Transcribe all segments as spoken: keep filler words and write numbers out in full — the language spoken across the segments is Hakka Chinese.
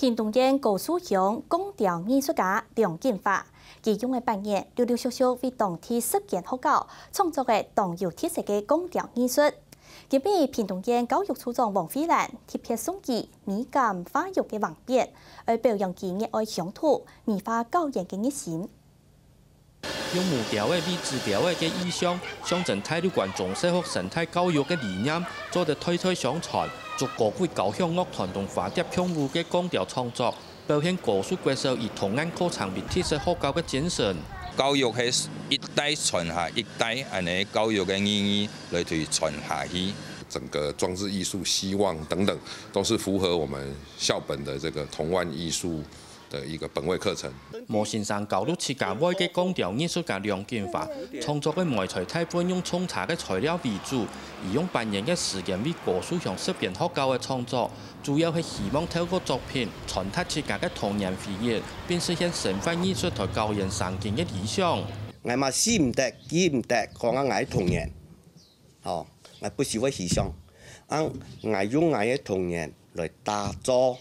屏東縣高樹鄉光雕藝術家梁錦華，佢用个半年，陸陸續續為當地十間學校創作个當有特色个光雕藝術。今晡日屏東縣教育處長王惠蘭特別送佢美感化育个橫匾，愛表揚佢熱愛鄉土、美化校園个熱心。 用木雕仔、米紙雕仔个意象，象徵大陸館中小學生態教育个理念，做得代代相傳，祝高貴交響樂團同花蝶共舞个光雕創作，表現高樹國小以童顏課程為特色學校个精神。教育係一代傳下一代，恁呢教育个意義來去傳下去。整個裝置藝術、希望等等，都是符合我們校本的這個童玩藝術的一個本位課程。毛先生教了自家會个光雕藝術家梁錦華，創作个媒材大部分用沖茶个材料為主，佢用半年个時間為高樹鄉十間學校个創作，主要係希望透過作品傳達自家个童年回憶，並實現生活藝術台校園生境个理想。𠊎嘛死毋得，記毋得，講啊𠊎童年，吼，𠊎不時會回想，啊，𠊎用𠊎个童年來打造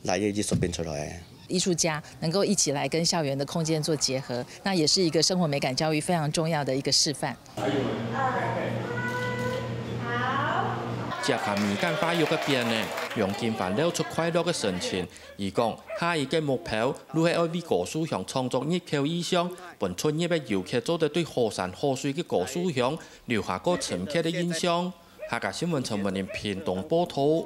來个藝術品出來。藝術家能夠一起來跟校園的空間做結合，那也是一個生活美感教育非常重要的一個示範。接下美感化育个匾呢，梁錦華露出快樂个神情。佢講，下一個目標，就係愛為高樹鄉創作入口意象，分出入个遊客做得對好山好水个高樹鄉留下過深刻个印象。客家新聞陳文玲屏東報導。